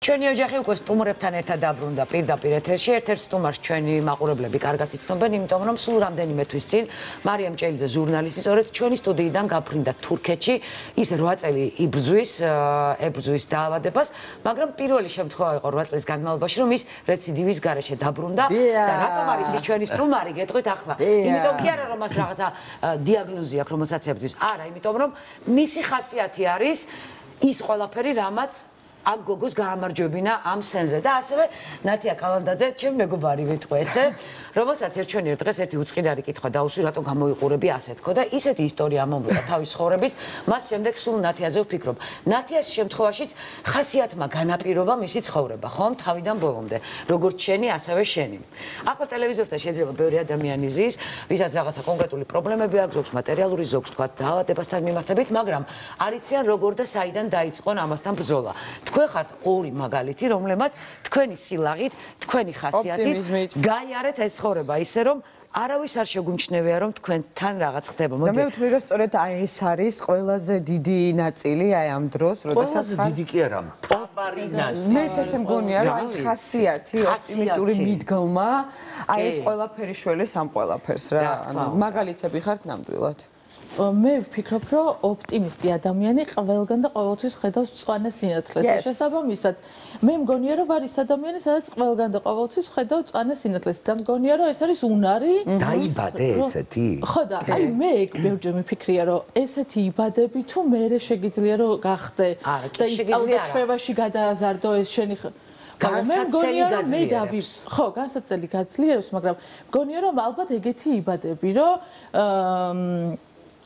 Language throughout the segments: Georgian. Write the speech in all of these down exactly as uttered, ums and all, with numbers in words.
ჩვენი ოჯახი უკვე სტუმრებთან ერთად დაბრუნდა პირდაპირ ეთერში. ერთ-ერთ სტუმარს ჩვენი მაყურებლები კარგად იცნობენ, იმიტომ რომ სულ რამდენიმე თვის წინ მარიამ ჭელიძე ჟურნალისტი სწორედ ჩვენი სტუდიიდან გაფრინდა თურქეთში. ის რვა წელი იბრძვის, ებრძვის დაავადებას, მაგრამ პირველი შემთხვევა იყო რვა წლის განმავლობაში, რომ ის რეციდივის გარეშე დაბრუნდა და რატომ არის ის ჩვენი სტუმარი, გეტყვით ახლა. იმიტომ კი არა რომ მას რაღაცა დიაგნოზი აქვს, რომელსაც ებრძვის. არა, იმიტომ რომ მისი ხასიათი არის ის ყველაფერი, რამაც ამ გოგოს გაამარჯვებინა ამ სენზე და ასევე ნათია კალანდაძე, ჩემი მეგობარი ვიტყვე ესე, რომელსაც ერჩვენიერ დღეს ერთი უწყინარი კითხვა დაუსვი, რატო გამოიყურები ასე თქო და ისეთი ისტორია მომვიდა თავის ცხოვრების, მას შემდეგ სულ ნათიაზე ვფიქრობ. ნათიას შემთხვევაშიც ხასიათმა განაპირობა მისი ცხოვრება, ხომ, თავიდან ბოლომდე, როგორც შენი, ასევე შენი. ახლა ტელევიზორთან შეიძლება ბევრი ადამიანი ზის, ვისაც რაღაცა კონკრეტული პრობლემები აქვს, ზოგს მატერიალური, ზოგს თქვა დაავადებასთან მიმართებით, მაგრამ არ იციან როგორ და საიდან დაიწყონ ამასთან ბრძოლა. თქვენ ხართ ორი მაგალითი, რომლებმაც თქვენი სილაღით, თქვენი ხასიათით გაიარეთ ეს ცხოვრება, ისე რომ არავის არ შეგუმჩნევია რომ თქვენთან რაღაც ხდება. და მე ვთვლი რომ სწორედ აი ეს არის ყველაზე დიდი ნაწილი აი ამ დროს, როდესაც ყველაზე დიდი კი არა, მთავარი ნაწილი. მეც ესე მგონია რომ აი ხასიათი, ოპტიმისტური მიდგომა, აი ეს ყველაფერი შველეს ამ ყველაფერს რა. ანუ მაგალითები ხართ ნამდვილად. მე ვფიქრობ, რომ ოპტიმისტი ადამიანი ყველგან და ყოველთვის ხედავს მწვანე სინათლეს. შესაბამისად, მე მგონია, რომ არის ადამიანი, სადაც ყველგან და ყოველთვის ხედავს მწვანე სინათლეს. და მგონია, რომ ეს არის უნარი. დაიბადე ესეთი? ხო და აი მე ბევრჯერ მიფიქრია, რომ ესეთი იბადები თუ მეરે შეგიძლია რომ გახდე და ის წავდაშვებაში გადააზარდო ეს შენი განსაცდელი გაძლიერებს. მე დავი ხო, განსაცდელი გაძლიერებს, მაგრამ მგონია, რომ ალბათ ეგეთი იბადები, რომ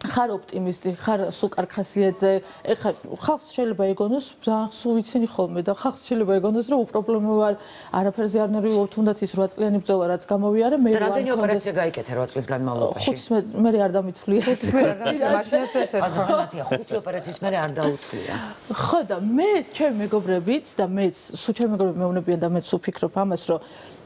ხარ ოპტიმისტი, ხარ სუკარ ხასიათზე, ეხლა ხალხს შეიძლება ეგონოს, ძალიან სულ ვიცინი ხოლმე და ხალხს შეიძლება ეგონოს, რომ უპრობლემო ვარ, არაფერზე არ ნერვიულობ, თუნდაც ის რვა წლიანი ბრძოლა რაც გამოვიარე, მე რა რამდენი ოპერაცია გაიკეთე რვა წლის განმავლობაში? ხუთს მე არ დამითვლია. ხუთს მე არ დამითვლია, მაშინაც ესეც. აზრიანათია, ხუთი ოპერაციის მერე არ დაუთვლია. ხო და მე ჩემი მეგობრებიც და მეც, სულ ჩემი მეგობრები მეუბნებიან და მეც ვფიქრობ ამას, რომ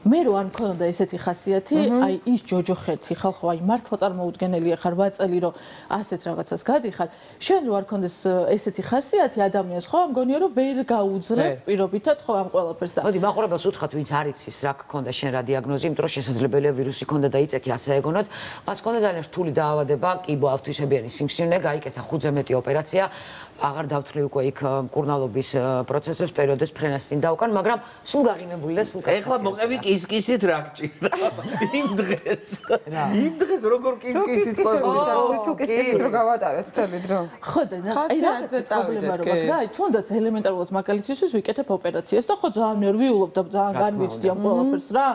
მე რო არ მქონოდა ესეთი ხასიათი, აი ის ჯოჯოხეთი ხალხო, აი მართლა წარმოუდგენელია ხარ რვა წელი რომ ასეთ რაღაცას გადიხარ. შენ რო არ ქონდეს ესეთი ხასიათი ადამიანს, ხო, მგონია რომ ვერ გაუძლებ პირობითად ხო ამ ყველაფერს და მოდი მაყურებელს უთხრათ, ვინც არ იცის რა გქონდა შენ რა დიაგნოზი, იმიტომ რომ შესაძლებელია ვირუსი ქონდა და იწექი ასე ეგონოთ. მას ქონდა ძალიან რთული დაავადება, კიბო ავთვისებიანი სიმსივნე, გაიკეთა ხუთზე მეტი ოპერაცია. აღარ დავთვლი უკვე იქ მკურნალობის პროცესებს, პერიოდეს ფრენას წინ დავკან, მაგრამ სულ გაღიმებული და სულ ეხლა მოყევი კისკისით რა გჭირდა იმ დღეს. იმ დღეს როგორ კისკისით ყო? სულ კისკისით რო გავატარეთ მთელი დრო. ხო და აი რაღაცა პრობლემა რო მაქვს რა, აი თუნდაც ელემენტარულად მაგალითისთვის ვიკეთებ ოპერაციას და ხო ძალიან ნერვიულობ და ძალიან განვიცდი ამ ყველაფერს რა.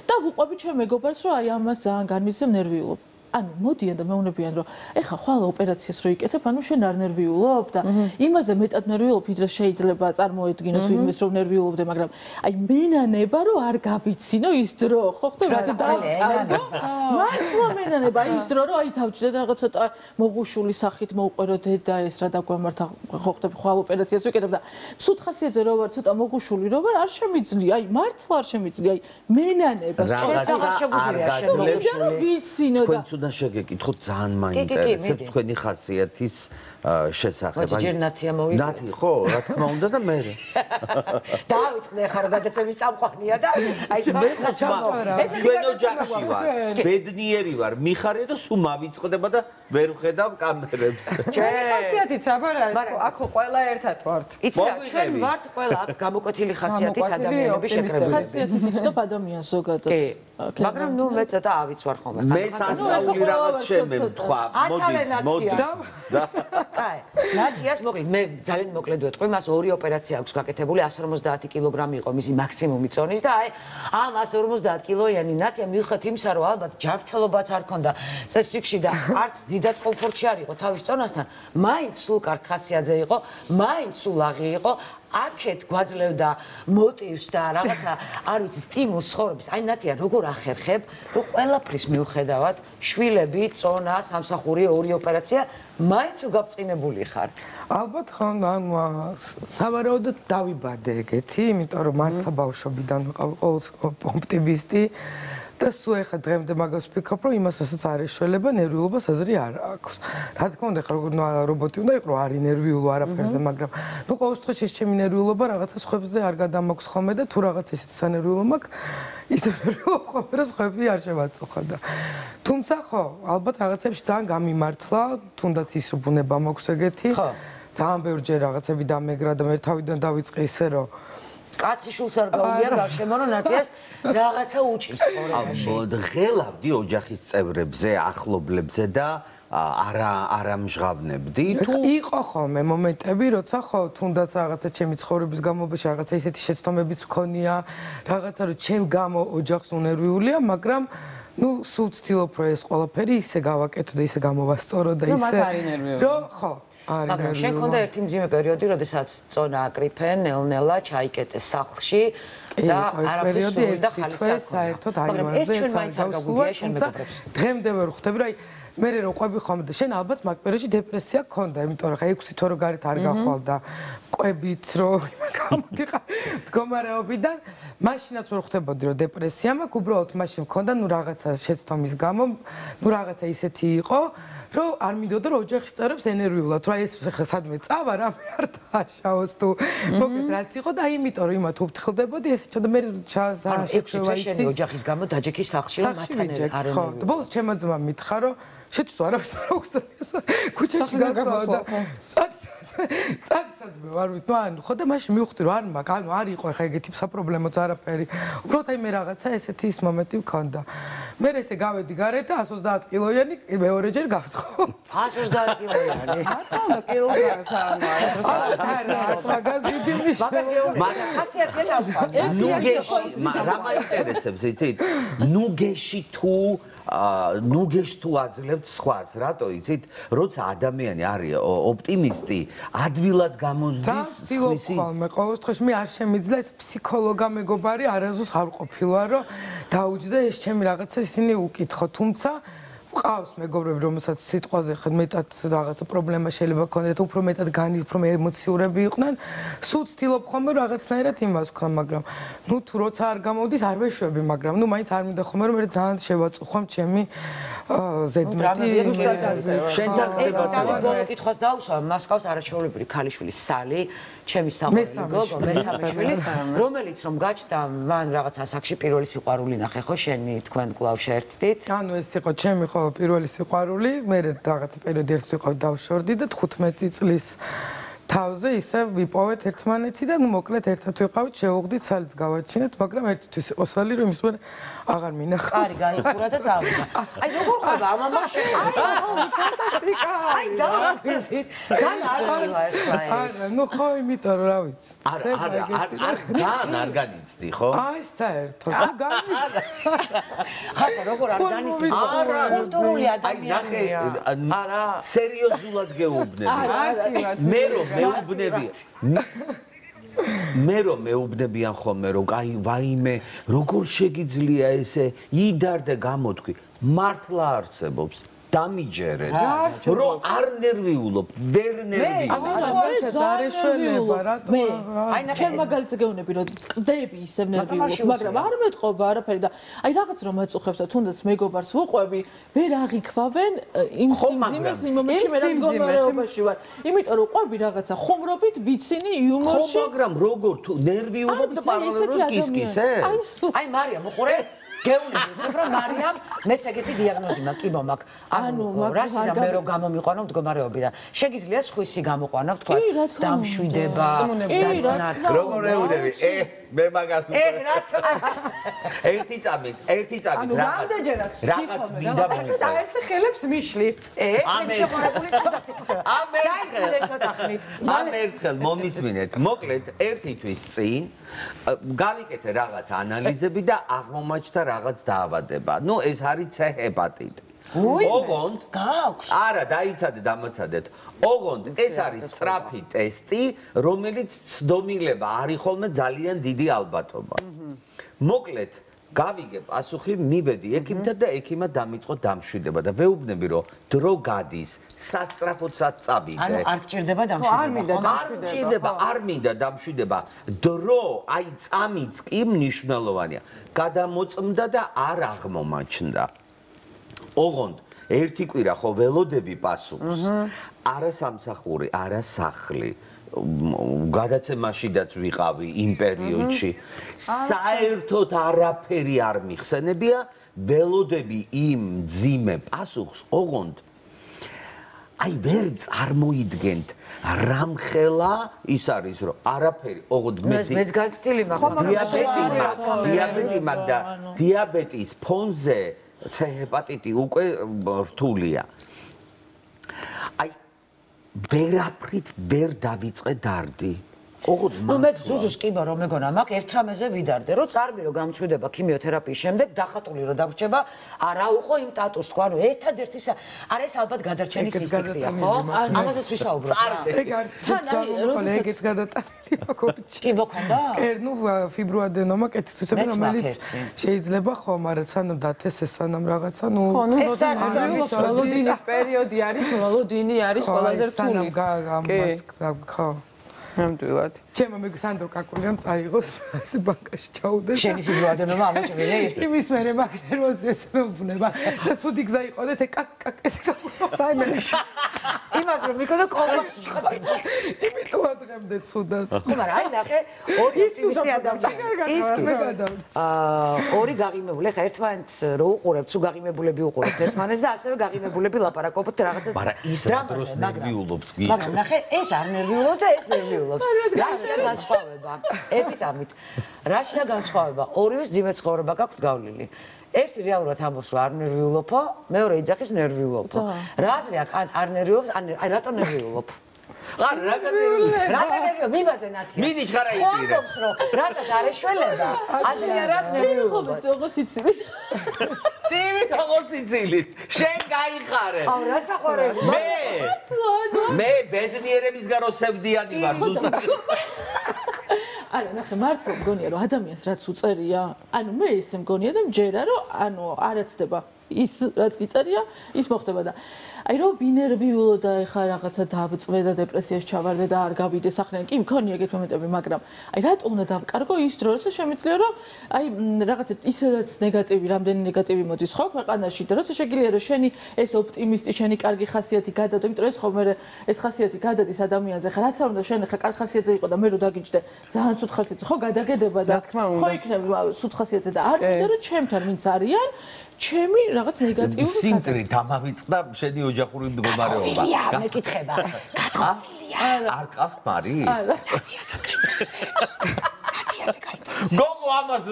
და ვუყვები ჩემ მეგობარს რომ აი ამას ძალიან განვიცდი ნერვიულობ. ანუ მოდიან და მეუბნებიან რომ ეხა ხვალ ოპერაციას რო იკეთებ, ანუ შენ არ ნერვიულობ და იმაზე მეტად ნერვიულობ, ვიდრე შეიძლება წარმოედგინოს ვინმეს რომ ნერვიულობდე, მაგრამ აი მენანება რომ არ გავიცინო ის დრო, ხო ხტო რაზე დავკარგო? მართლა მენანება ის დრო რომ აი თავჭდე და რაღაც ცოტა მოღუშული სახით მოვყვერო დედა ეს რა დაგვემართა, ხო ხტები ხვალ ოპერაციას ვიკეთებ და სულ ხასიათზე რო ვარ ცოტა მოღუშული რო ვარ, არ შემიძლია, აი მართლა არ შემიძლია, აი მენანება სწორად არ შეგვიძლია შემიძლია ვიცინო და და შეგეკითხოთ ძალიან მაინტერესებს თქვენი ხასიათის შესახებ. მოდი ჯერ ნათია მოვიდა. ნათი ხო, რა თქმა უნდა და მე. დავიწყდე ხარ გადაცემის წამყვანია და აი მე ჩვენ ოჯახში ვარ. ბედნიერი ვარ, მიხარია და სულ მავიწყდება და ვერ ვხედავ კამერებს. ჩვენი ხასიათიც აბარ არის, აქ ხო ყველა ერთად ვართ. იცი რა, ჩვენ ვართ ყველა აქ გამოკვეთილი ხასიათის ადამიანები შეკრებილი. ხასიათი ვიცნობ ადამიანს ზოგადად. მაგრამ ნუ მე ცოტა ავიცვარ ხოლმე. მე სასწაული რაღაც შემემთხვა. მოდით, მოდით. კაი, ნათიას მოკლედ მე ძალიან მოკლედ ვეთქვი, მას ორი ოპერაცია აქვს გაკეთებული, εκατს ორმოცდაათი კილოგრამი იყო მისი მაქსიმუმი წონის და აი ამ εκατს ორმოცდაათი კილოიანი ნათია მიუხედავად იმისა, რომ ალბათ ჯანმრთელობაც არ ქონდა წესრიგში და არც დიდად კომფორტში არ იყო თავის წონასთან, მაინც სულ კარგ ხასიათზე იყო, მაინც სულ აღი იყო. აქეთ გვაძლევდა მოტივს და რაღაცა არ ვიცი სტიმულს ცხოვრების. აი ნათია როგორ ახერხებ, რომ ყველაფრის მიუხედავად შვილები, წონა, სამსახური, ორი ოპერაცია, მაინც უგაბწყინებული ხარ. ალბათ ხო, ანუ სავარაუდოდ დავიბადე ეგეთი, იმიტომ რომ მართლა ბავშვობიდან ვიყავი ყოველთვის ოპტიმისტი და სულ ეხლა დღემდე მაგას ვფიქრობ, რომ იმასაც არ ეშველება, ნერვიულობას აზრი არ აქვს. რა თქმა უნდა, ხა როგორ რობოტი უნდა იყოს, არ ინერვიულო არაფერზე, მაგრამ ნუ ყოველ შემთხვევაში ეს ჩემი ნერვიულობა რაღაცა სხვებზე არ გადამაქვს ხოლმე და თუ რაღაც ისეთი სანერვიულო მაქვს, ის ნერვიულობა ხოლმე რომ სხვები არ შევაწუხა და თუმცა ხო, ალბათ რაღაცებში ძალიან გამიმართლა, თუნდაც ის რომ ბუნება მაქვს ეგეთი. ძალიან ბევრჯერ რაღაცები დამეგრა და მე თავიდან დავიწყე ისე რომ კაცი შულს არ გაუგია გარშემო რომ ნათიას რაღაცა უჭირს ცხოვრებაში. ღელავდი ოჯახის წევრებზე, ახლობლებზე და არა არა მჟღავნებდი თუ იყო ხოლმე მომენტები, როცა ხო თუნდაც რაღაცა ჩემი ცხოვრების განმავლობაში რაღაცა ისეთი შეცდომებიც მქონია, რაღაცა რომ ჩემ გამო ოჯახს უნერვიულია, მაგრამ ну, სულ ვცდილობ რომ ეს ყველაფერი ისე გავაკეთო და ისე გამოვასწორო და ისე რომ ხო მაგრამ შენ ქონდა ერთი მძიმე პერიოდი, როდესაც წონა აკრიფენ, ნელ-ნელა ჩაიკეტეს სახლში და არაფერს სულ და ხალისა საერთოდ აიმაზე წარგავსულა, თუმცა დღემდე ვერ ხვდები, რომ აი მე რო ყვები ხოლმე და შენ ალბათ მაგ პერიოდში დეპრესია გქონდა, იმიტომ რომ ხა ექვსი თვე რო გარეთ არ გახვალ და ყვებით რო გამოდიყარ მდგომარეობიდან, მაშინაც ვერ ხვდებოდი რომ დეპრესია მაქვს, უბრალოდ მაშინ მქონდა ნუ რაღაცა შეცდომის გამო, ნუ რაღაცა ისეთი იყო, რომ არ მინდოდა რომ ოჯახის წევრებს ენერვიულად, რომ აი ეს ხა სადმე წავა რა მე არ დააშაოს თუ მოგეთ რაც იყო და აი იმიტომ რომ იმათ უფრთხილდებოდი ესე ჩა და მე შეჩვევა იცის ოჯახის გამო დაჯექი სახლში რომ მათთან არ ხო და ბოლოს ჩემმა ძმა მითხრა რომ შეთვის არავის არ აქვს ქუჩაში გასვლა და წადსაც მე ვარ ვით ნუ ანუ ხო და მაშინ მივხვდი რომ არ მაქვს ანუ არ იყო ხა ეგეთი საპრობლემოც არაფერი უბრალოდ აი მე რაღაცა ესეთი ის მომენტი მქონდა მე ესე გავედი გარეთ და εκατს ოცდაათ კილოიანი მეორეჯერ გავთხო εκατს ოცდაათ კილოიანი რა თქმა უნდა კილოგრამს არ არის მაგას დიდი ნიშნულობა მაგრამ ხასიათი დავხარ ნუ გეში რა მაინტერესებს იცით ნუ გეში თუ ნუ გეში თუ აძლევთ სხვას რატო იცით როცა ადამიანი არის ოპტიმისტი ადვილად გამოსდის სხვისი ხოლმე ყოველ შემთხვევაში მე არ შემიძლია ეს ფსიქოლოგა მეგობარი არასდროს არ ყოფილა რომ დაუჯდა ეს ჩემი რაღაცა ისინი უკითხო თუმცა ყავს მეგობრები რომელსაც სიტყვაზე ხედ მეტად რაღაცა პრობლემა შეიძლება ქონდეთ უფრო მეტად განი უფრო ემოციურები იყვნენ სულ ცდილობ ხოლმე რაღაცნაირად იმას ვქნა მაგრამ ნუ თუ როცა არ გამოვდის არ ვეშვები მაგრამ ნუ მაინც არ მინდა ხოლმე რომ მე ძალიან შევაწუხო ჩემი ზედმეტი შენთან ხდება ბოლო კითხვას დავუსვა მას ყავს არაჩვეულებრივი ქალიშვილი სალი ჩემი საყვარელი გოგო მესამე შვილი რომელიც რომ გაჩნდა მან რაღაც ასაკში პირველი სიყვარული ნახე ხო შენი თქვენ კვლავ შეერთდით ანუ ეს იყო ჩემი ხო პირველი სიყვარული მე რაღაცა პერიოდი ერთ ვიყავ დავშორდი და თხუთმეტი წლის თავზე ისე ვიპოვეთ ერთმანეთი და ნუ მოკლედ ერთად ვიყავით შევუღდით სალიც გავაჩინეთ მაგრამ ერთთვის იყო სალი რომ ის მე აღარ მინახავს არი გაიხურა და წავიდა აი როგორ ხდება ამ ამაში აი ფანტასტიკა აი დავიწყეთ გან არ გავა ეს აი არა ნუ ხო იმიტომ რომ რა ვიცი არა არა არ ძალიან არ განიცდი ხო აი საერთოდ რა განიცდი ხატა როგორ არ განიცდი არა კულტურული ადამიანია არა სერიოზულად გეუბნები მე რომ მეუბნები მე რომ მეუბნებიან ხოლმე რომ აი ვაიმე როგორ შეგიძლია ესე იდარ და გამოთქვი მართლა არსებობს დამიჯერეთ რომ არ ნერვიულობ ვერ ნერვიულობ არ ეშველება რატო აი ჩემ მაგალითზე გეუბნები რომ ყდები ისევ ნერვიულობ მაგრამ არ მეტყობა არაფერი და აი რაღაც რომ ეწუხებს და თუნდაც მეგობარს ვუყვები ვერ აღიქვავენ იმ სიმძიმეს იმ მომენტში მე რა მდგომარეობაში ვარ იმიტომ რომ ყვები რაღაცა ხუმრობით ვიცინი იუმორში ხო მაგრამ როგორ თუ ნერვიულობ და პარალელურად კისკისე აი მარიამ უყურე გეუბნები რომ მარიამ მეც ეგეთი დიაგნოზი მაქვს კიბო მაქვს ანუ რასიზა მე რომ გამომიყვანო მდგომარეობიდან შეგიძლია სხვისი გამოყვანა თქვა დამშვიდება დაწყნარ როგორ ეუბნები ე მე მაგას ე რაც ერთი წამით ერთი წამით რაღაც რაღაც მინდა და ეს ხელებს მიშლი ე შენ შეყარებული სადაც ამ ამ ერთხელ მომისმინეთ მოკლედ ერთი თვის წინ გავიკეთე რაღაც ანალიზები და აღმომაჩნდა რაღაც დაავადება ნუ ეს არის ცე ჰეპატიტი ოღონდ გაქვს არა დაიცადე დამაცადეთ ოღონდ ეს არის სწრაფი ტესტი რომელიც ცდომილება არის ხოლმე ძალიან დიდი ალბათობა მოკლედ გავიგე პასუხი, მივედი ექიმთან და ექიმა დამიწყო დამშვიდება და ვეუბნები რომ დრო გადის, სასწრაფოდაც წავიდე. ანუ არ გჭირდება დამშვიდება. არ გჭირდება, არ მინდა დამშვიდება. დრო, აი წამიც კი მნიშვნელოვანია. გადამოწმდა და არ აღმომაჩნდა. ოღონდ ერთი კვირა ხო ველოდები პასუხს. არა სამსახური, არა სახლი. გადაცემაშიდაც ვიყავი იმ პერიოდში. საერთოდ არაფერი არ მიხსენებია, ველოდები იმ ძიმე პასუხს, ოღონდ აი ვერ წარმოიდგენთ რამხელა ის არის რომ არაფერი, ოღონდ მეც განცდილი მაქვს. დიაბეტი მაქვს, დიაბეტი მაქვს და დიაბეტის ფონზე C ჰეპატიტი უკვე რთულია. აი ვერაფრით ვერ დავიწყე დარდი. ოღონდ ნუ მე ზუზუს ყიმა რომ მეგონა მაქვს ერთ რამეზე ვიდარდე, რომ წარბი რომ გამჩვიდება ქიმიოთერაპიის შემდეგ, დახატული რომ დავრჩება, არა უყო იმ ტატუს თქვა, რომ ერთადერთი არა ეს ალბათ გადარჩენის ინსტინქტია, ხო? ამასაც ვისაუბრობ. ეგ არის სუცავი, ეგეც გადატანილი მოგორჩი. კი მოქონდა? კი, ნუ ფიბროადენომა კეთისთავები, რომელიც შეიძლება ხო, მაგრამ სანამ დათესეს, სანამ რაღაცა, ნუ ეს არის მელოდინის პერიოდი არის, მელოდინი არის ყველაზე რთული. სანამ გამას ხო. ნამდვილად. ჩემო მე სანდრო კაკულიამ წაიღოს ეს ბანკაში ჩაუდეს. შენი ფიბროადენომა ამოჭრილი? იმის მერე მაგ ნერვოზი ეს მეუბნება და ცუდი გზა იყო და ეს კაკ კაკ ეს კაკულიამ დაიმეშ. იმას რომ მიქონდა კომპლექსი ჩხატა. იმიტომ ადრემდე ცუდად. ხო, მაგრამ აი ნახე, ორი ოპტიმისტი ადამიანი. ის მე გადავრჩი. აა ორი გაღიმებული, ხა ერთმანეთს რო უყურებთ, სულ გაღიმებულები უყურებთ ერთმანეთს და ასევე გაღიმებულები ლაპარაკობთ რაღაცა. მაგრამ ის რა დროს ნერვიულობს გიქ. მაგრამ ნახე, ეს არ ნერვიულობს და ეს ნერვიულობს. რაშია განსხვავება? ერთი წამით. რაშია განსხვავება? ორივეს ძიმე ცხოვრება გაქვთ გავლილი. ერთი რეალურად ამბობს რომ არ ნერვიულობო, მეორე იძახის ნერვიულობო. რა აზრი აქვს? ან არ ნერვიულობს, ან აი რატო ნერვიულობ? არ რა განერვიულობ? რა განერვიულობ? მიბაძე ნათია. მიდი ჩხარა იპირე. ხომობს რომ რასაც არ ეშველება, აზრი არ აქვს ნერვიულობა. როგორ სიცილით? ტივი როგორ სიცილით? შენ გაიხარე. აუ რა საყვარელი. მე მე ბედნიერებისგან რო სევდიანი ვარ ზუსტად. არა, ნახე, მართლა მგონია რომ ადამიანს რაც უწერია, ანუ მე ესე მგონია და მჯერა რომ ანუ არაცდება ის რაც გიწერია, ის მოხდება და აი რომ ვინერვიულო და ეხა რაღაცა დავწვე და დეპრესიაში ჩავარდე და არ გავიდე სახლიდან, კი მქონია ეგეთ მომენტები, მაგრამ აი რატო უნდა დავკარგო ის დრო, როცა შემიძლია რომ აი რაღაცა ისედაც ნეგატივი, რამდენი ნეგატივი მოდის ხო ქვეყანაში და როცა შეგიძლია რომ შენი ეს ოპტიმისტი, შენი კარგი ხასიათი გადადო, იმიტომ რომ ეს ხომ მე ეს ხასიათი გადადის ადამიანზე, ხა რაც არ უნდა შენ ხა კარგი ხასიათზე იყო და მე რო დაგიჭდე ძალიან სუთ ხასიათზე, ხო გადაგედება და ხო იქნება სუთ ხასიათზე და არ გინდა რომ ჩემთან ვინც არიან ჩემი რაღაც ნეგატიური სინტრი დამავიწყდა შენი ოჯახური მდგომარეობა. მეკითხება. გათხოვილია. არ ყავს მარი? ნათიას არ გაინტერესებს. ნათიას გაინტერესებს. გოგო ამას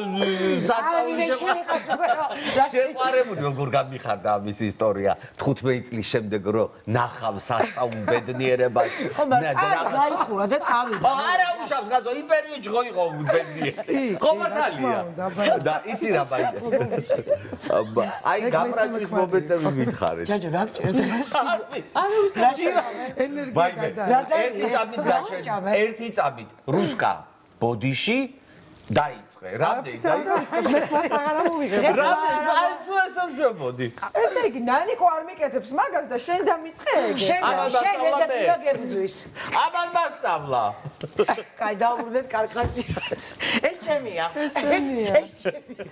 შეყვარებული როგორ გამიხარდა ამის ისტორია თხუთმეტი წლის შემდეგ რომ ნახავ სასწაულ ბედნიერებას. ხო, მაგრამ გაიხურა და წავიდა. არა უშავს გაზო იმ პერიოდში ხო იყო ბედნიერი. ხო მართალია. და ისი რა ბაი. აი გამრაგის მომენტები მითხარეთ. ჯაჯო რა გჭირდება? არა უსაჯი ენერგია გადააჭა. ერთი წამით გაჩენ. ერთი წამით რუსკა ბოდიში დაიწყე. რამდენი დაიწყე? მე მას აღარ მოვიღებ. რამდენი წაისვას ამჟამოდი. ესე იგი ნანიკო არ მიკეთებს მაგას და შენ დამიწყე ეგ. შენ შენ ეს და თვა გებძვის. ამან მასწავლა. კაი დაუბრუნდეთ კარხასიათს. ეს ჩემია. ეს ჩემია. ეს ჩემია.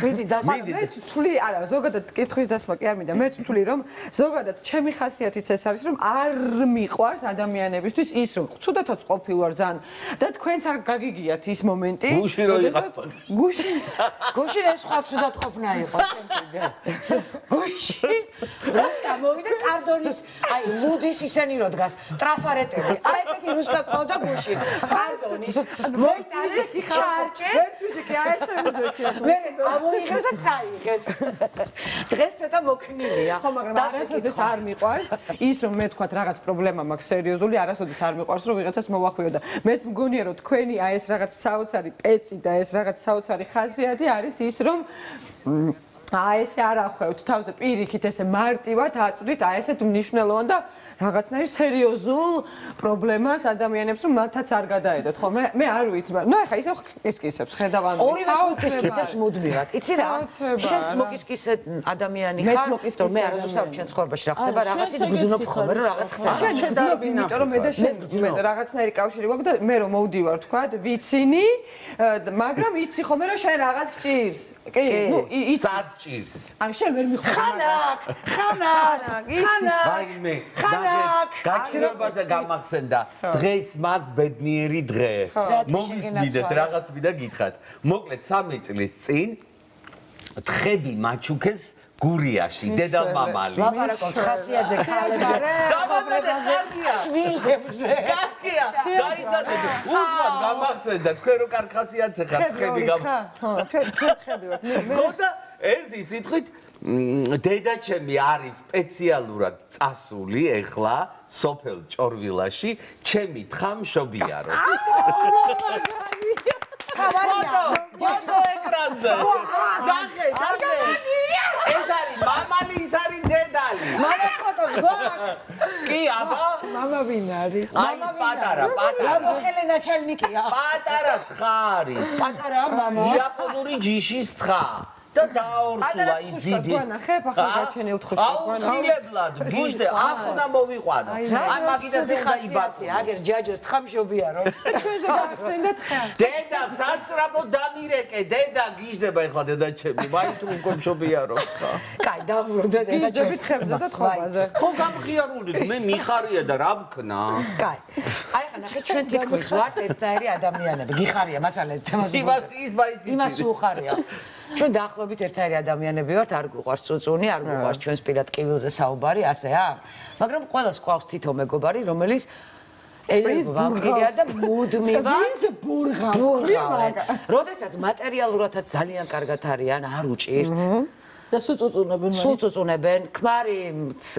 მიდი დასმე. მე თვლი, არა, ზოგადად კითხვის დასმა კი არ მინდა. მე თვლი რომ ზოგადად ჩემი ხასიათიც ეს არის რომ არ მიყვარს ადამიანებისთვის ის რომ ცუდათაც ყოფილ ვარ ძალიან და თქვენც არ გაგიგიათ ის მომენტი. გუში რო იყავ. გუში გუში ეს სხვა ცუდად ყოფნა იყო შემთხვევით. გუში რუსკა მოვიდა კარდონის აი ლუდის ისენი რო დგას ტრაფარეტები. აი ესეთი რუსკა ყავდა გუში. კარდონის მოიწარეს ჩარჭეს. ერთ ვიჯექი აი ესე ვიჯექი. მე ამოიღეს და წაიღეს. დღეს ცოტა მოქნილია. ხო, მაგრამ არასოდეს არ მიყვარს ის რომ მე თქვა რაღაც პრობლემა მაქვს სერიოზული, არასოდეს არ მიყვარს რომ ვიღაცას მოვახვიო და მეც მგონია რომ თქვენი აი ეს რაღაც საოცარი პეცი და ეს რაღაც საოცარი ხასიათი არის ის რომ აი ესე არ ახვევთ თავზე პირიქით ესე მარტივად აწვდით აი ესეთ მნიშვნელოვან და რაღაცნაირ სერიოზულ პრობლემას ადამიანებს რომ მათაც არ გადაედოთ ხო მე მე არ ვიცი მაგრამ ნუ ახლა ისე ხკისკისებს ხედავ ანუ ორივე ხკისკისებს მუდმივად იცი რა შენს მოკისკისე ადამიანი ხარ რომ მე არასდროს ჩემ ცხოვრებაში რა ხდება რაღაცით გძნობ ხოლმე რომ რაღაც ხდება შენ დაბინავ იმიტომ რომ მე და შენ მე რაღაცნაირი კავშირი გვაქვს და მე რომ მოვდივარ თქვა ვიცინი მაგრამ იცი ხოლმე რომ შენ რაღაც გჭირს კი ნუ იცი ჭირს. ან შენ ვერ მიხვდი. ხანაკ, ხანაკ, ხანაკ. ვაიმე, გაგირებაზე გამახსენდა. დღეს მაგ ბედნიერი დღე. მოგისმიდეთ, რაღაც მინდა გითხრათ. მოკლედ სამი წლის წინ თხები მაჩუქეს გურიაში, დედალ-მამალი. ლაპარაკობთ ხასიათზე, ქალებზე. დამაზადე კარგია. შვილებზე. კარგია. დაიცადეთ. უცბად გამახსენდა, თქვენ რო კარგ ხასიათზე ხართ თხები გამ. ხო, ჩვენ ჩვენ თხები ვართ. ხოდა ერთი სიტყვით დედაჩემი არის სპეციალურად წასული ეხლა სოფელ ჭორვილაში ჩემი თხა მშობიარო. ფოტო, ფოტო ეკრანზე. დახე, დახე. ეს არის მამალი, ის არის დედალი. მამას ფოტოს გვაქვს. კი, აბა, მამა ვინ არის? აი პატარა, პატარა. ხელენა ჩელნიკია. პატარა თხა არის. პატარა მამა. იაპონური ჯიშის თხა. და დაორსულა ის დიდი. ხებ ახლა გაჩენილ თხუშკას გვანა. აუცილებლად, გიჟდე, ახლა მოვიყვანო. აი მაგიდაზე დაიბაცი, აგერ ჯაჯოს თხამშობიარობს. ჩვენზე გახსენდა თხა. დედა საცრაფო დამირეკე, დედა გიჟდება ეხლა დედა ჩემი, მაინც უკვე მშობიარო. კაი, დავრუნდა დედა გიჟდებით ხებზე და თხობაზე. ხო გამხიარულდით, მე მიხარია და რა ვქნა? კაი. აი ხა ნახე ჩვენ თითქმის ვართ ერთნაირი ადამიანები. გიხარია მაცალეთ თემაზე. იმას ის მაინც იცი. იმას უხარია. ჩვენ დაახლოებით ერთნაირი ადამიანები ვართ, არ გვიყვარს წუწუნი, არ გვიყვარს ჩვენს პირად კივილზე საუბარი, ასე აა. მაგრამ ყველას ყავს თითო მეგობარი, რომელიც ელის ვამპირია და მუდმივად ის ბურღავს. ბურღავენ. როდესაც მატერიალურადაც ძალიან კარგად არიან, არ უჭირთ. და სულ წუწუნებენ სულ წუწუნებენ, ქმარი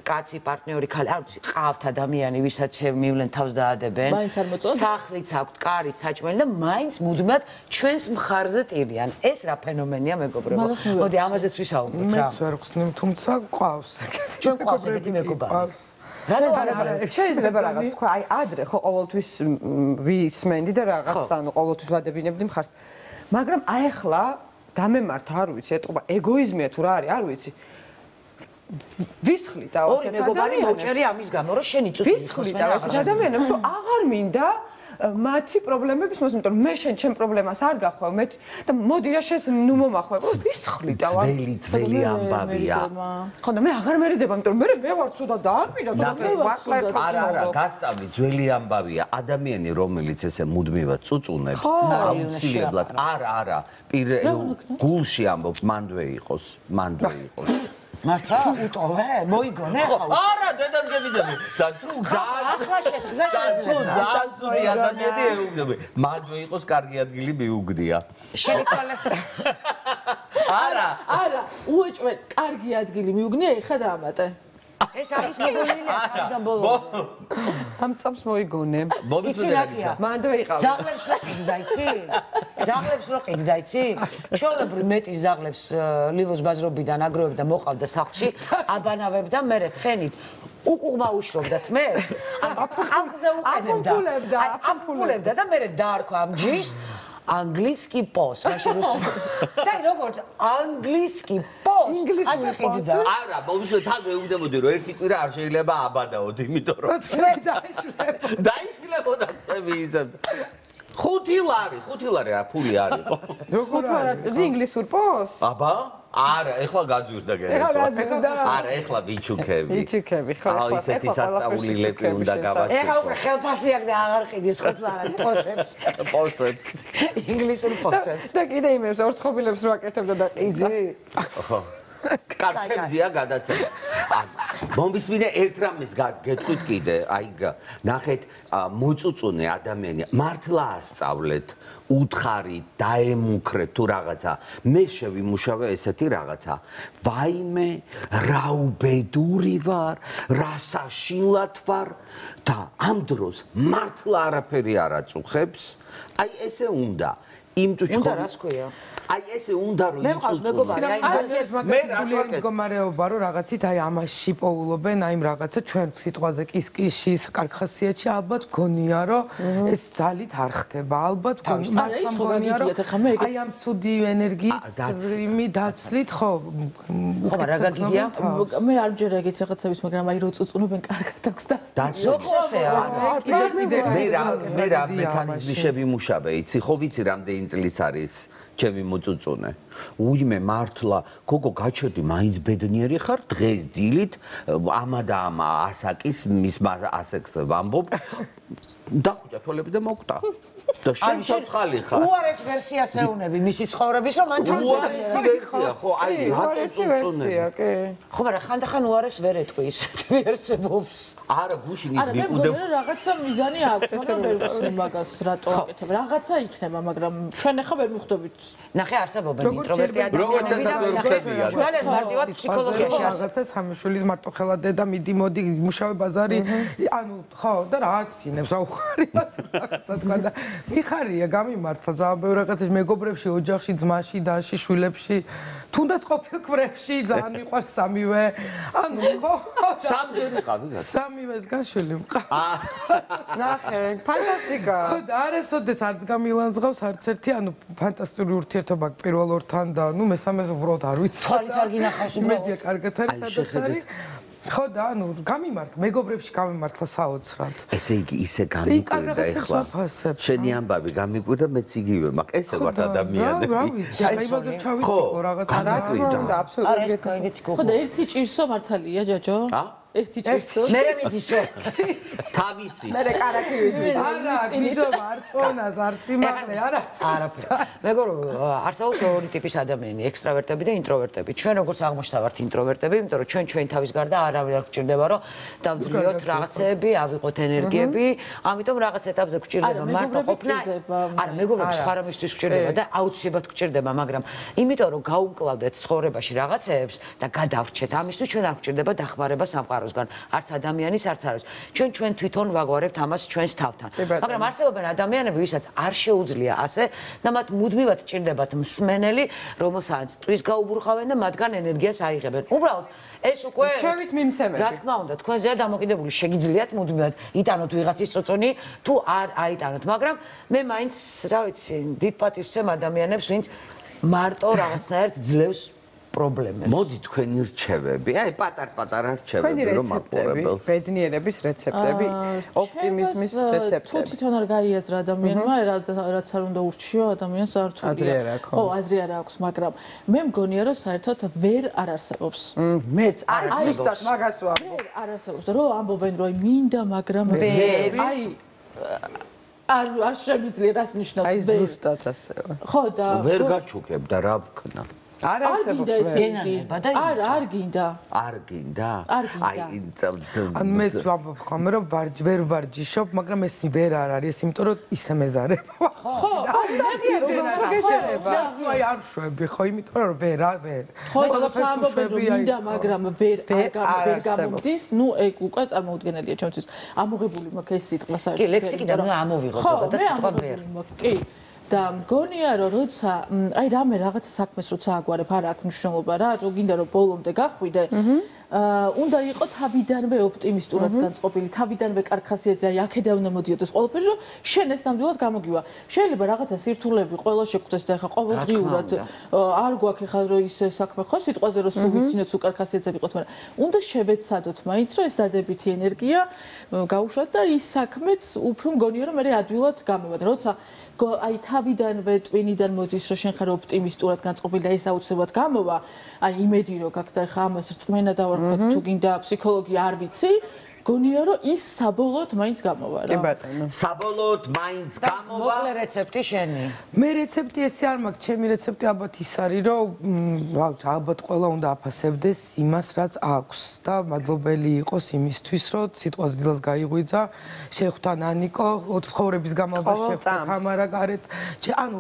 კაცი, პარტნიორი, ხალი, არ ვიცი, ყავთ ადამიანი, ვისაც მივლენ თავს დაადებენ. მაინც არ მოწონთ? სახლიც აქვთ, კარიც, საჭმელი და მაინც მუდმივად ჩვენს მხარზე ტირიან. ეს რა ფენომენია, მეგობრებო? მოდი ამაზეც ვისაუბროთ რა. მეც ვერ ხსნიმ, თუმცა ყავს. ჩვენ ყავს ეგეთი მეგობარი. რატო არა? შეიძლება რაღაც თქვა, აი ადრე ხო ყოველთვის ვისმენდი და რაღაც ანუ ყოველთვის ვადებინებდი მხარს. მაგრამ აი ახლა დამემართ არ ვიცი, ეტყობა ეგოიზმია თუ რა არის, არ ვიცი. ვისხლით და ორი მეგობარი მოჭერი ამის გამო, რომ შენი წუთი ვისხლით და ასეთ ადამიანებს, რომ აღარ მინდა მათი პრობლემების მოსმენ, იმიტომ რომ მე შენ ჩემ პრობლემას არ გახვევ, მე და მოდი რა შენს ნუ მომახვევ, ვისხლით და ვარ. ძველი ძველი ამბავია. ხო და მე აღარ მერიდება, იმიტომ რომ მე მე ვარ ცუდა და არ მინდა ცუდა ვარ. არა, არა, გასწავლი, ძველი ამბავია. ადამიანი, რომელიც ესე მუდმივად წუწუნებს, აუცილებლად, არა, არა, პირ გულში ამბობს, მანდვე იყოს, მანდვე იყოს. მართლა უტოვე? მოიგონე ახლა? არა, დედას გებიძები. და თუ ძალიან ახლა შეთხზა შეიძლება. ძალიან ცუდი ადამიანი ეუბნები. მანდვე იყოს კარგი ადგილი მიუგდია. შეიცვალე. არა, არა, უეჭვენ კარგი ადგილი მიუგნია, ეხა დაამატე. ეს არის მეგონილია თავიდან ბოლომდე. ამ წამს მოიგონე. იცინაკია. მანდვე იყავ. ზაღლებს რა ყიდდა, იცი? ზაღლებს რა ყიდდა, იცი? ჩვეულებრივ მეტის ზაღლებს ლილოს ბაზრობიდან აგროვებდა, მოყავდა სახლში, აბანავებდა, მერე ფენით უკუღმა უშრობდათ მე. ამხზე უყენებდა. აი, ამფულებდა და მერე დაარქვა ამ ჯიშს ანგლისკი პოს, მაშინ რუსული. და როგორც ანგლისკი პოს, ასე ყიდდა. არა, მოვისმენთ თან მეუბნებოდი რომ ერთი კვირა არ შეიძლება აბადაოთ, იმიტომ რომ დაიშლება. დაიშლებოდა თქვენი ისე. ხუთი ლარი, ხუთი ლარი რა ფული არის ხო? როგორ არის? ინგლისურ პოს? აბა? არა, ეხლა გაძვირდა გერეცო. არა, ეხლა ვიჩუქები. ვიჩუქები, ხო, ახლა ისეთი სასწაული ლეპი უნდა გავაკეთო. ეხლა უკვე ხელფასი აქვს და აღარ ყიდის ხუთ ლარად პოსებს. პოსებს. ინგლისურ პოსებს. და კიდე იმებს ორცხობილებს რო აკეთებდა და ყიძი. ხო. კარჩემზია გადაცემა. მომისმინე ერთ რამეს გეტყვით კიდე, აი ნახეთ, მოწუწუნე ადამიანი, მართლა ასწავლეთ, უთხარით, დაემუქრეთ თუ რაღაცა. მე შევიმუშავე ესეთი რაღაცა. ვაიმე, რა უბედური ვარ, რა საშინლად ვარ და ამ დროს მართლა არაფერი არ აწუხებს. აი ესე უნდა. იმ თუ უნდა რას ქვია? აი ესე უნდა რომ მე მყავს მეგობარი, აი მე სულიერი მდგომარეობა რომ რაღაცით აი ამაში პოულობენ, აი რაღაცა ჩვენ სიტყვაზე კისკისში, კარგხასიათში ალბათ გონია რომ ეს ძალით არ ხდება. ალბათ გონია რომ აი ამ ცუდი ენერგიით იმი დაცლით ხო ხო რა გაგიგია? მე არ ჯერ ეგეთ რაღაცების, მაგრამ აი რო წუწუნებენ კარგად აქვს და ზოგსეა. მე რა მე რა მექანიზმი შევიმუშავე, იცი ხო ვიცი რამდენი წლის არის ჩემი მოწუწუნე. უიმე მართლა, გოგო გაჩერდი, მაინც ბედნიერი ხარ, დღეს დილით ამა და ამა ასაკის მის ასექს ვამბობ. დახუჭა თვალები და მოკტა. და შენ ცოცხალი ხარ. უარეს ვერსიას ეუნები მისი ცხოვრების, რომ მან უარესი ვერსია, ხო, აი რატო წუწუნე? კი. ხო, მაგრამ ხანდახან უარეს ვერ ეტყვი ისეთ ვერსებს. არა, გუშინ ის არა, მე მიყუდებ. მგონი რაღაცა მიზანი აქვს, მაგრამ ვერ ვხსენ მაგას, რატო აკეთებ. რაღაცა იქნება, მაგრამ ჩვენ ახლა ვერ მიხვდებით. ნახე არსებობენ ინტროვერტი ადამიანები და ნახე ძალიან მარტივად ფსიქოლოგიაში არის. რაღაცა სამშვილის მარტო ხელა დედა მიდი მოდი მუშავე ბაზარი, ანუ ხო და რაც ინებს რა უხარიათ რაღაცა თქვა და მიხარია გამიმართლა ძალიან ბევრ რაღაცაში მეგობრებში, ოჯახში, ძმაში, დაში, შვილებში, თუნდაც ყოფილ კვირებში ძალიან მიყვარს სამივე. ანუ ხო სამჯერ იყავი გა. სამივეს გაშვილი მყავს. ნახე, ფანტასტიკა. ხო და არასოდეს არც გამილანძღავს არც ერთი, ანუ ფანტასტიკური ურთიერთობა პირველ ორთან და ნუ მესამეს უბრალოდ არ ვიცი. თვალით არ გინახავს უბრალოდ. იმედია კარგად არის სადაც არის. ხო და ანუ გამიმართ, მეგობრებში გამიმართლა საოცრად. ესე იგი ისე გამიკვირდა ეხლა. შენი ამბავი გამიკვირდა, მეც იგივე მაქვს. ესე ვართ ადამიანები. რა ვიცი, აიბაზე ჩავიციკო რაღაცა. რა თქმა უნდა, აბსოლუტურად. არა ეს კაიგეთი გოგო. ხო და ერთი ჭირსო მართალია ჯაჯო? ა? ერთი ჭირსო. მე რა მიდისო? თავისი. მე კარაკი ვიცი. არა, გიჟო მარწონას არც იმაღლე, არა. არაფერი. მეგობრ, არსებობს ორი ტიპის ადამიანი, ექსტრავერტები და ინტროვერტები. ჩვენ როგორც აღმოჩნდა ვართ ინტროვერტები, იმიტომ რომ ჩვენ ჩვენ თავის გარდა არავინ არ გვჭირდება, რომ დავძლიოთ რაღაცეები, ავიღოთ ენერგიები, ამიტომ რაღაც ეტაპზე გვჭირდება მარტო ყოფნა. არა, მეგობრებს სხვა რამისთვის გვჭირდება და აუცილებლად გვჭირდება, მაგრამ იმიტომ რომ გაუმკლავდეთ ცხოვრებაში რაღაცეებს და გადავრჩეთ, ამისთვის ჩვენ არ გვჭირდება დახმარება სამყაროსგან, არც ადამიანის, არც არის. ჩვენ ჩვენ თვითონ ვაგვარებთ ამას ჩვენს თავთან. მაგრამ არსებობენ ადამიანები, ვისაც არ შეუძლია ასე და მათ მუდმივად ჭირდებათ მსმენელი, რომელსაც ტყვის გაუბურხავენ და მათგან ენერგიას აიღებენ. უბრალოდ ეს უკვე ჩემის მიმცემები. რა თქმა უნდა, თქვენზეა დამოკიდებული, შეგიძლიათ მუდმივად იტანოთ ვიღაცის წოწონი, თუ არ აიტანოთ, მაგრამ მე მაინც, რა ვიცი, დიდ პატივს ვცემ ადამიანებს, ვინც მარტო რაღაცნაირად ძლევს პრობლემებს. მოდი თქვენი რჩევები, აი პატარ-პატარა რჩევები რომ რეცეპტები, ბედნიერების რეცეპტები, ოპტიმიზმის რეცეპტები. თუ თვითონ არ გაიაზრა ადამიანმა, რაც არ უნდა ურჩიო ადამიანს არ თულია. აზრი არ აქვს. ხო, აზრი არ აქვს, მაგრამ მე მგონია რომ საერთოდ ვერ არ არსებობს. მეც არ ზუსტად მაგას ვამბობ. ვერ არ არსებობს, რომ ამბობენ რომ აი მინდა, მაგრამ ვერ. აი არ არ შემიძლია რას ნიშნავს აი ვერ. ზუსტად ასევა. ხო და ვერ გაჩუქებ და რა ვქნა. არ არსებობს გენანება და არ არ გინდა არ გინდა არ გინდა ან მეც ვამბობ ხომ რომ ვარჯ ვერ ვარჯიშობ მაგრამ ეს ვერ არ არის ეს იმიტომ რომ ისე მეზარება ხო აი როგორ გეშერება აი არ შვები ხო იმიტომ რომ ვერ ვერ ხო ყველაფერს მინდა მაგრამ ვერ არ ვერ გამომდის ნუ ეგ უკვე წარმოუდგენელია ჩემთვის ამოღებული მაქვს ეს სიტყვა საერთოდ კი ლექსიკიდან ნუ ამოვიღოთ ზოგადად სიტყვა ვერ კი და მგონია რომ როცა აი რამე რაღაცა საქმეს როცა აგვარებ არა აქვს მნიშვნელობა რა რო გინდა რომ ბოლომდე გახვიდე აა უნდა იყოს თავიდანვე ოპტიმისტურად განწყობილი თავიდანვე კარგ ხასიათზე აი აქედან უნდა მოდიოდეს ყველაფერი რომ შენ ეს ნამდვილად გამოგივა შეიძლება რაღაცა სირთულეები ყველა შეგხვდეს და ხა ყოველდღიურად არ გვაქვს ხა რომ ის საქმე ხო სიტყვაზე რომ სულ ვიცინოთ სულ კარგ ხასიათზე ვიყოთ მაგრამ უნდა შევეცადოთ მაინც რომ ეს დადებითი ენერგია გაუშვათ და ის საქმეც უფრო მგონია რომ მე ადვილად გამოვადა როცა აი თავიდანვე ტვინიდან მოდის რომ შენ ხარ ოპტიმისტურად განწყობილი და ეს აუცილებლად გამოვა აი იმედი რომ გაქვს და ხა ამას რწმენა დავარქვათ თუ გინდა ფსიქოლოგია არ ვიცი გონია რომ ის საბოლოოდ მაინც გამოვა რა. კი ბატონო. საბოლოოდ მაინც გამოვა. მოკლე რეცეპტი შენი. მე რეცეპტი ესე არ მაქვს, ჩემი რეცეპტი ალბათ ის არის, რომ რა ვიცი, ალბათ ყველა უნდა აფასებდეს იმას, რაც აქვს და მადლობელი იყოს იმისთვის, რომ სიტყვას დილას გაიღვიძა, შეხვდა ნანიკო, ოთხ ცხოვრების განმავლობაში შეხვდა თამარა გარეთ. ანუ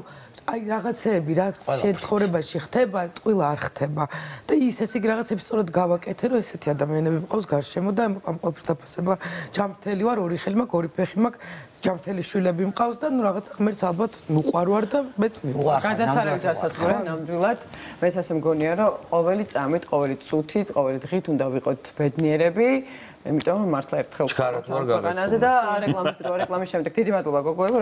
აი რაღაცეები რაც შენ ცხოვრებაში ხდება, ტყუილა არ ხდება და ის ესე იგი რაღაცები სწორად გავაკეთე, რომ ესეთი ადამიანები მყავს გარშემო და ამ ყოველთვის დაფასება ჯამთელი ვარ, ორი ხელი მაქვს, ორი ფეხი მაქვს, ჯამთელი შვილები მყავს და ნუ რაღაც ღმერთს ალბათ უყვარვარ და მეც მიყვარს. გადასარევით ასასწორე ნამდვილად. მეც ასე მგონია, რომ ყოველი წამით, ყოველი წუთით, ყოველი დღით უნდა ვიყოთ ბედნიერები. იმიტომ რომ მართლა ერთხელ ჩქარად ვარ გავაკეთე. და რეკლამის რეკლამის შემდეგ დიდი მადლობა გოგოებო.